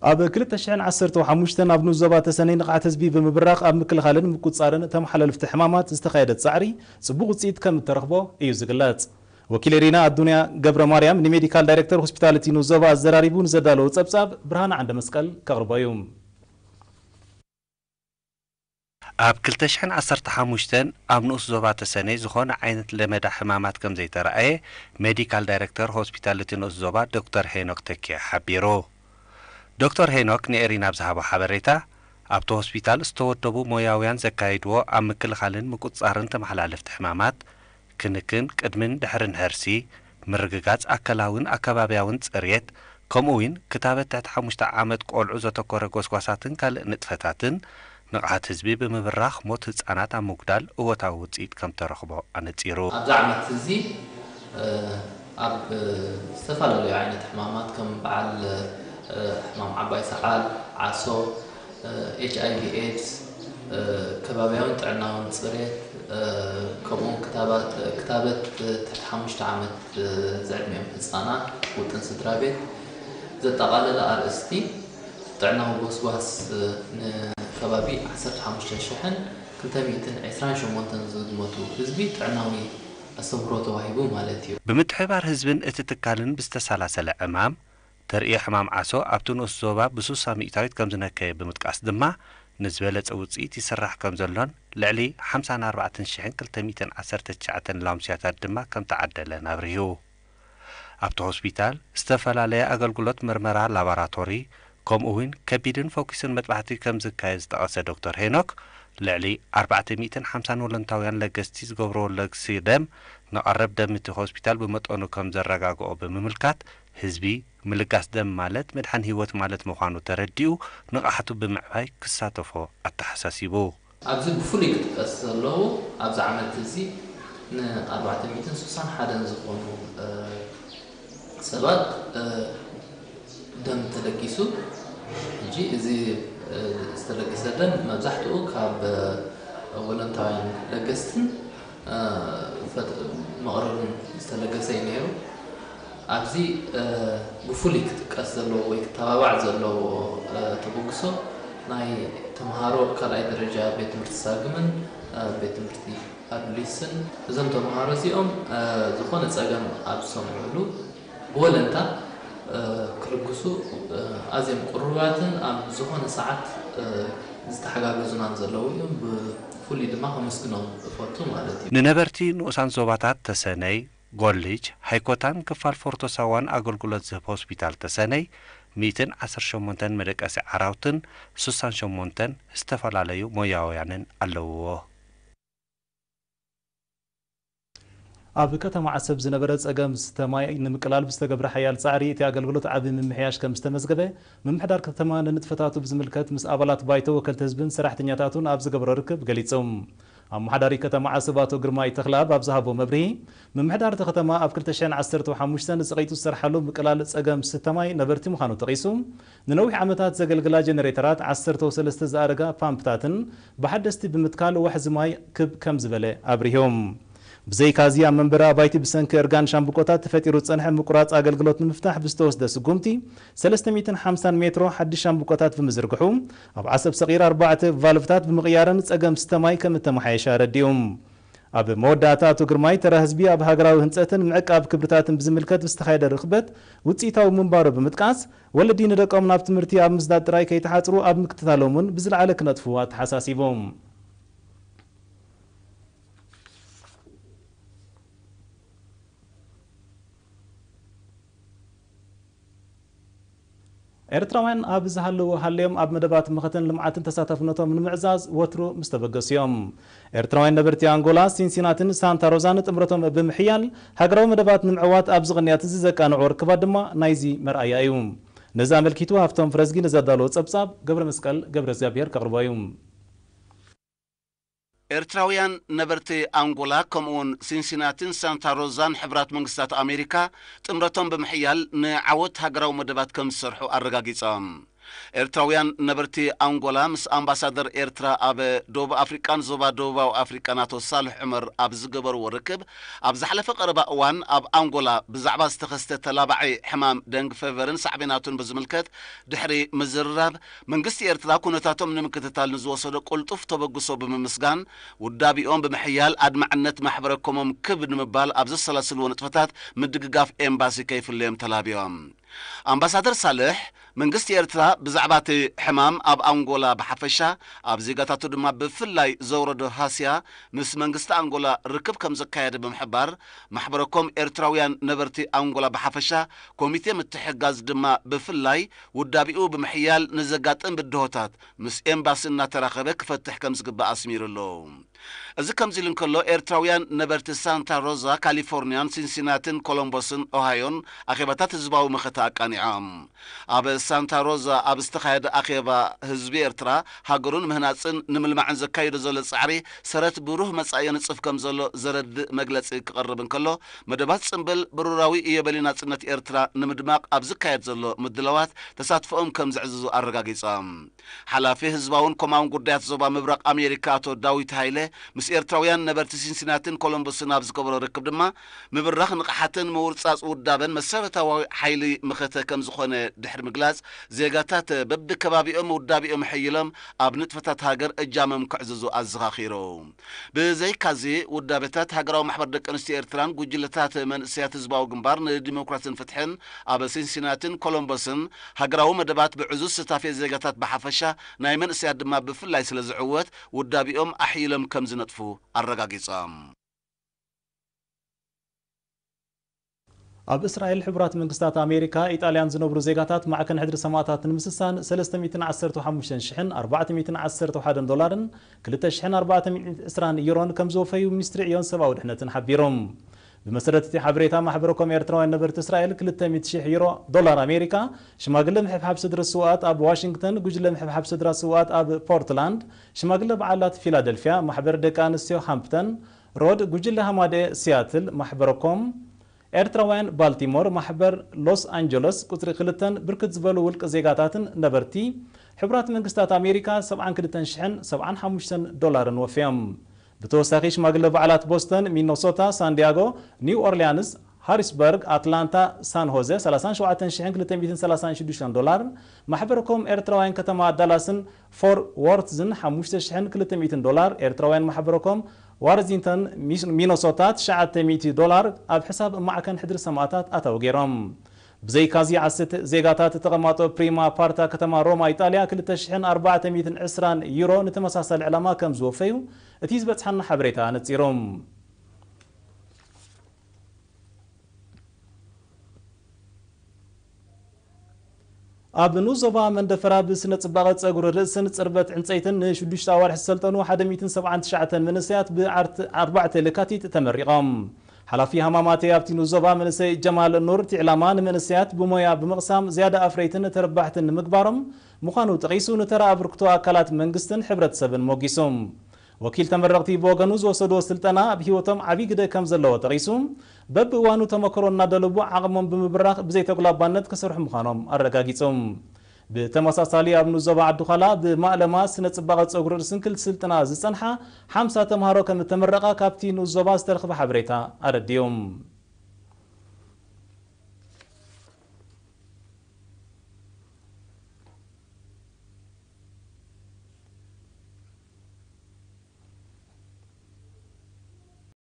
ኣብ ክልተ ሽሕን ዓሰርተ ሓሙሽተን ኣብ ንኡስ ዞባ ተሰነይ ንቕሓት ህዝቢ ብምብራኽ ኣብ ምክልኻልን ምቁጽጻርን ተመሓላለፍቲ ሕማማት ዝተኻየደ ጻዕሪ ጽቡቕ ውጽኢት ከም እተረኽቦ እዩ ዝግለጽ። ወኪል ኤሪና ኣዱንያ ገብረ ማርያም ንሜዲካል ዳይሬክተር ሆስፒታሊቲ ንኡስ ዞባ ኣዘራሪቡ ንዘዳለዎ ጸብጻብ ብርሃነ ዓንደ መስቀል ከቕርቦ እዩ። ኣብ ክልተ ሽሕን ዓሰርተ ሓሙሽተን ኣብ ንኡስ ዞባ ተሰነይ ዝኾነ ዓይነት ለመዳ ሕማማት ከም ዘይተረኣየ ሜዲካል ዳይሬክተር ሆስፒታሊቲ ንኡስ ዞባ ዶክተር ሄኖክ ተኪኤ ሓቢሩ። ዶክተር ሄኖክ ንኤሪና ኣብ ዝሃቦ ሓበሬታ፣ ኣብቲ ሆስፒታል ዝተወደቡ ሞያውያን ዘካይድዎ ኣብ ምክልኻልን ምቁጽጻርን ተመሓላለፍቲ ሕማማት፣ ክንክን ቅድምን ድሕርን ሕርሲ፣ ምርግጋጽ ኣካላውን ኣከባብያውን ጽርየት፣ ከምኡ እውን ክታበት ትሕቲ ሓሙሽተ ዓመት ቆልዑ ዘተኮረ ጎስጓሳትን ካልእ ንጥፈታትን ንቕሓት ህዝቢ ብምብራኽ ሞት ህጻናት ኣብ ምጉዳል እወታዊ ውጽኢት ከም ተረኽቦ ኣነጺሩ። ኣብዚ ዓመት እዚ ኣብ ዝተፈላለዩ ዓይነት ሕማማት ከም በዓል ሕማም ዓባይ ሰዓል፣ ዓሶ፣ ኤች ኣይ ቪ ኤድስ፣ ከባብያውን ጥዕናውን ፅሬት፣ ከምኡውን ክታበት ትሕቲ ሓሙሽተ ዓመት ዝዕድሚኦም ህፃናት ውጥን ስድራ ቤት ዘጠቓለለ ኣርእስቲ ጥዕናዊ ጎስጓስ ንከባቢ ዓሰርተ ሓሙሽተ ሽሕን ክልተ ሚእትን ዕስራን ሸሞንተን ዝግመቱ ህዝቢ ጥዕናዊ ኣስተምህሮ ተዋሂቡ ማለት እዩ። ብምትሕብባር ህዝብን እቲ ትካልን ብዝተሰላሰለ ዕማም፣ ተርእዮ ሕማም ዓሶ ኣብቲ ንኡስ ዞባ ብሱሳ ሚእታዊት ከምዝነከየ ብምጥቃስ ድማ፣ ንዝበለጸ ውጽኢት ይስራሕ ከምዘሎን ልዕሊ ሓምሳን ኣርባዕተን ሽሕን ክልተ ሚእትን ዓሰርተ ትሽዓተን ላምስያታት ድማ ከምተዓደለን ኣብሪሁ። ኣብቲ ሆስፒታል ዝተፈላለየ ኣገልግሎት መርመራ ላባራቶሪ፣ ከምኡ እውን ከቢድን ፈኲስን መጥባሕቲ ከምዝካየድ ዝጠቐሰ ዶክተር ሄኖክ፣ ልዕሊ ኣርባዕተ ሚእትን ሓምሳን ወለንታውያን ለገስቲ ዝገብርዎ ለግሲ ደም ንቐረብ ደም እቲ ሆስፒታል ብመጠኑ ከምዘረጋግኦ ብምምልካት፣ ህዝቢ ምልጋስ ደም ማለት ምድሓን ህይወት ማለት ምዃኑ ተረዲኡ ንቕሓቱ ብምዕባይ ክሳተፎ ኣተሓሳሲቡ። ኣብዚ ብፍሉይ ክጥቀስ ዘለዎ ኣብዚ ዓመት እዚ ን ኣርባዕተ ሚእትን ስሳን ሓደን ዝኾኑ ሰባት ደም ተለጊሱ። ሕጂ እዚ ዝተለገሰ ደም መብዛሕትኡ ካብ ወለንታውያን ለገስትን መቕርብን ዝተለገሰ እዩ ነይሩ። ኣብዚ ብፍሉይ ክጥቀስ ዘለዎ ወይ ክተባባዕ ዘለዎ ተበግሶ ናይ ተምሃሮ ካልኣይ ደረጃ ቤት ትምህርቲ ሳግምን ቤት ትምህርቲ ኣዱሊስን። እዞም ተምሃሮ እዚኦም ዝኾነ ፀገም ኣብ ዝሰምዕሉ ብወለንታ ክልግሱ ኣዝዮም ቅሩባትን ኣብ ዝኾነ ሰዓት ዝተሓጋገዙናን ዘለዉ እዮም። ብፍሉይ ድማ ከመስግኖም እፈቱ ማለት እዩ። ንነበርቲ ንኡሳን ዞባታት ተሰነይ፣ ጎልጅ፣ ሃይኮታን ክፋል ፎርቶ ሳዋን ኣገልግሎት ዝህብ ሆስፒታል ተሰነይ፣ ሚእትን ዓሰርተ ሸሞንተን መደቀሲ ዓራውትን ስሳን ሸሞንተን ዝተፈላለዩ ሞያውያንን ኣለውዎ። ኣብ ከተማ ዓሰብ ዝነበረ ጸገም ዝስተ ማይ ንምቅላል ብዝተገብረ ሓያል ጻዕሪ እቲ ኣገልግሎት ዓቢ ምምሕያሽ ከም ዝተመዝገበ ምምሕዳር ከተማ ንንጥፈታቱ ብዝምልከት ምስ ኣባላት ባይቶ ወከልቲ ህዝብን ሰራሕተኛታቱን ኣብ ዝገበሮ ርክብ ገሊጹ። ኣመሓዳሪ ከተማ ዓሰብ ኣቶ ግርማይ ተኽለኣብ ኣብ ዝሃቦ መብርሂ፣ ምምሕዳር እታ ከተማ ኣብ ክልተ ሽሕን ዓሰርተ ሓሙሽተን ዝጸቒጡ ዝሰርሓሉ ምቅላል ጸገም ዝስተ ማይ ነበርቲ ምዃኑ ጠቒሱ፣ ንነዊሕ ዓመታት ዘገልግላ ጀነሬተራት፣ ዓሰርተ ሰለስተ ዝኣረጋ ፓምፕታትን ብሓደስቲ ብምትካል ዋሕዚ ማይ ክብ ከም ዝበለ ኣብሪሁ። ብዘይካዚ ኣብ መንበሪ ኣባይቲ ብሰንኪ እርጋን ሻምብቆታት ተፈጢሩ ዝጸንሐ ምቁራጽ ኣገልግሎት ንምፍታሕ ብዝተወስደ ስጉምቲ ሰለስተ ሚእትን ሓምሳን ሜትሮ ሓድሽ ሻምብቆታት ብምዝርግሑ ኣብ ዓሰብ ሰቒር ኣርባዕተ ቫልቭታት ብምቕያርን ጸገም ስተ ማይ ከም እተመሓየሸ ኣረዲኡ። ኣብ መወዳእታ ኣቶ ግርማይ ተራ ህዝቢ ኣብ ሃገራዊ ህንጸትን ምዕቃብ ክብርታትን ብዝምልከት ብዝተኻየደ ርኽበት ውጽኢታዊ ምንባሩ ብምጥቃስ ወለዲ ንደቆም ናብ ትምህርቲ ኣብ ምስዳድ ጥራይ ከይተሓጽሩ ኣብ ምክትታሎም እውን ብዝለዓለ ክነጥፉ ኣተሓሳሲቡ። ኤርትራውያን ኣብ ዝሃለዉ ሃልዮም ኣብ መደባት መኸተን ልምዓትን ተሳታፍነቶም ንምዕዛዝ ወትሩ ምስ ተበገሱ እዮም። ኤርትራውያን ነበርቲ ኣንጎላ፣ ሲንሲናትን ሳንታ ሮዛን ጥምረቶም ብምሕያል ሃገራዊ መደባት ንምዕዋት ኣብዚ ቅንያት እዚ ዘቃንዕዎ ርክባት ድማ ናይዚ መርኣያ እዩ። ነዚ ኣመልኪቱ ሃፍቶም ፍረዝጊ ንዘዳለዎ ጸብጻብ ገብረ መስቀል ገብረ እግዚኣብሔር ከቕርቦ እዩ። ኤርትራውያን ነበርቲ ኣንጎላ ከምኡውን ሲንሲናቲን ሳንታ ሮዛን ሕቡራት መንግስታት ኣሜሪካ ጥምረቶም ብምሕያል ንዓወት ሃገራዊ መደባት ከም ዝሰርሑ ኣረጋጊጾም። ኤርትራውያን ነበርቲ ኣንጎላ ምስ ኣምባሳደር ኤርትራ ኣብ ደቡብ ኣፍሪቃን ዞባ ደቡባዊ ኣፍሪቃን ኣቶ ሳልሕ ዑመር ኣብ ዝገበርዎ ርክብ፣ ኣብ ዝሓለፈ ቀረባ እዋን ኣብ ኣንጎላ ብዛዕባ ዝተኸስተ ተላባዒ ሕማም ደንግ ፌቨርን ሳዕቤናቱን ብዝምልከት ድሕሪ ምዝርራብ፣ መንግስቲ ኤርትራ ኩነታቶም ንምክትታል ንዝወሰዶ ቅልጡፍ ተበግሶ ብምምስጋን፣ ውዳቢኦም ብምሕያል ኣድማዕነት ማሕበረ ኮሞም ክብ ንምባል ኣብ ዘሰላስልዎ ንጥፈታት ምድግጋፍ ኤምባሲ ከይፍለዮም ተላብዮም። ኣምባሳደር ሳልሕ፣ መንግስቲ ኤርትራ ብዛዕባ እቲ ሕማም ኣብ ኣንጎላ ብሓፈሻ፣ ኣብ ዜጋታቱ ድማ ብፍላይ ዘውረዶ ሃስያ፣ ምስ መንግስቲ ኣንጎላ ርክብ ከም ዘካየደ ብምሕባር፣ ማሕበረኮም ኤርትራውያን ነበርቲ ኣንጎላ ብሓፈሻ፣ ኮሚቴ ምትሕጋዝ ድማ ብፍላይ፣ ውዳቢኡ ብምሕያል ንዘጋጥም ብድሆታት ምስ ኤምባሲ እናተራኸበ ክፈትሕ ከም ዝግባእ ኣስሚሩ ኣሎ። እዚ ከምዚ ኢሉ እንከሎ፣ ኤርትራውያን ነበርቲ ሳንታ ሮዛ፣ ካሊፎርኒያን፣ ሲንሲናትን ኮሎምቦስን ኦሃዮን ኣኼባታት ህዝባዊ መኸተ ኣቃኒዖም። ኣብ ሳንታ ሮዛ ኣብ ዝተኻየደ ኣኼባ፣ ህዝቢ ኤርትራ ሃገሩን ምህናጽን ንምልማዕን ዘካይዶ ዘሎ ጻዕሪ ሰረት ብሩህ መጻኢ የንጽፍ ከም ዘሎ ዘረድእ መግለጺ ክቐርብ እንከሎ፣ መደባት ጽምብል ብሩራዊ ኢዮቤልዩ ናጽነት ኤርትራ ንምድማቕ ኣብ ዝካየድ ዘሎ ምድላዋት ተሳትፎኦም ከም ዘዕዝዙ ኣረጋጊጾም። ሓላፊ ህዝባውን ኮማውን ጉዳያት ዞባ ምብራቕ ኣሜሪካ ኣቶ ዳዊት ሃይለ ምስ ኤርትራውያን ነበርቲ ሲንሲናትን ኮሎምቦስን ኣብ ዝገበሮ ርክብ ድማ፣ ምብራኽ ንቕሓትን ምውርጻጽ ውዳበን መሰረታዊ ሓይሊ መኸተ ከም ዝኾነ ድሕሪ ምግላጽ፣ ዜጋታት በብከባቢኦም ውዳቢኦም ሕይሎም ኣብ ንጥፈታት ሃገር እጃሞም ከዕዝዙ ኣዘኻኺሩ። ብዘይካዚ፣ ውዳበታት ሃገራዊ ማሕበር ደቂ ኣንስትዮ ኤርትራን ጉጅለታት መንእሰያት ህዝባዊ ግንባር ንዲሞክራስን ፍትሕን ኣብ ሲንሲናትን ኮሎምቦስን ሃገራዊ መደባት ብዕዙዝ ስታፌ ዜጋታት ብሓፈሻ፣ ናይ መንእሰያት ድማ ብፍላይ ስለ ዝዕወት፣ ውዳቢኦም ኣሕይሎም ከም ዝነጥፉ ኣረጋጊጾም። ኣብ እስራኤል ሕቡራት መንግስታት ኣሜሪካ፣ ኢጣልያን ዝነብሩ ዜጋታት ማዕከን ሕድሪ ሰማእታት ንምስሳን ሰለስተ ሚእትን ዓሰርተ ሓሙሽተ ሽሕን ኣርባዕተ ሚእትን ዓሰርተ ሓደን ዶላርን ክልተ ሽሕን ኣርባዕተ ሚእትን ዕስራን ዩሮን ከም ዝወፈዩ ሚኒስትሪ ዕዮን ሰብኣዊ ድሕነትን ሓቢሮም። ብመሰረት እቲ ሓበሬታ፣ ማሕበረኮም ኤርትራውያን ነበርቲ እስራኤል ክልተ ሚእቲ ሽሕ ዩሮ፣ ዶላር ኣሜሪካ፣ ሽማግለ ምሕብሓብ ስድሪ ስውኣት ኣብ ዋሽንግተን፣ ጉጅለ ምሕብሓብ ስድራ ስውኣት ኣብ ፖርትላንድ፣ ሽማግለ በዓላት ፊላደልፊያ፣ ማሕበር ደቂ ኣንስትዮ ሃምፕተን ሮድ፣ ጉጅለ ሃማደ ሲያትል፣ ማሕበረኮም ኤርትራውያን ባልቲሞር፣ ማሕበር ሎስ ኣንጀለስ፣ ቁጽሪ ክልተን ብርክት ዝበሉ ውልቂ ዜጋታትን ነበርቲ ሕቡራት መንግስታት ኣሜሪካ ሰብዓን ክልተን ሽሕን ሰብዓን ሓሙሽተን ዶላርን ወፍዮም። ብተወሳኺ ሽማግለ በዓላት ቦስተን፣ ሚኖሶታ፣ ሳንዲያጎ፣ ኒው ኦርሊያንስ፣ ሃሪስበርግ፣ ኣትላንታ፣ ሳን ሆዘ ሰላሳን ሸውዓተን ሽሕን ክልተ ሚእትን ሰላሳን ሽዱሽተን ዶላር፣ ማሕበረኮም ኤርትራውያን ከተማ ዳላስን ፎር ዎርትዝን ሓሙሽተ ሽሕን ክልተ ሚእትን ዶላር፣ ኤርትራውያን ማሕበረኮም ዋርዚንተን፣ ሚስ-፣ ሚኖሶታ ትሽዓተ ሚእቲ ዶላር ኣብ ሕሳብ ማዕከን ሕድሪ ሰማእታት ኣታዊ ገይሮም። ብዘይካዚ ዓሰርተ ዜጋታት ተቐማጦ ፕሪማ ፓርታ ከተማ ሮማ ኢጣልያ ክልተ ሽሕን ኣርባዕተ ሚእትን ዕስራን ዩሮ ንተመሳሳሊ ዕላማ ከም ዝወፈዩ እቲ ዝበጽሓና ሓበሬታ ኣነጺሩ። ኣብ ንኡስ ዞባ መንደፈራ ብስነ ጽባቐ ጸጉሪ ርእስን ጽርበት ዕንጸይትን ንሽዱሽተ ኣዋርሕ ዝሰልጠኑ ሓደ ሚእትን ሰብዓን ትሽዓተን መንእሰያት ብዓርት-፣ ኣርባዕተ ለካቲት ተመሪቖም። ሓላፊ ሃማማተይ ኣብቲ ንኡስ ዞባ መንእሰይ ጀማል ኑር፣ እቲ ዕላማ ንመንእሰያት ብሞያ ብምቕሳም ዝያዳ ኣፍረይትን ተረባሕትን ንምግባሮም ምዃኑ ጠቒሱ፣ ንተራ ኣበርክቶ ኣካላት መንግስትን ሕብረተሰብን ሞጊሱ። ወኪል ተመረቕቲ ብወገኑ፣ ዝወሰድዎ ስልጠና ኣብ ህይወቶም ዓብዪ ግደ ከም ዘለዎ ጠቒሱ፣ በብእዋኑ ተመክሮ እናደለቡ ዓቕሞም ብምብራኽ ብዘይተጉላባነት ክሰርሑ ምዃኖም ኣረጋጊጹ። ብተመሳሳሊ፣ ኣብ ንኡስ ዞባ ዓዲ ዃላ ብማእለማ ስነ ጽባቐ ጸጉሪ ርእስን ክልተ ስልጠና ዝጸንሓ ሓምሳ ተምሃሮ ከም እተመረቓ ካብቲ ንኡስ ዞባ ዝተረኽበ ሓበሬታ ኣረዲኡ።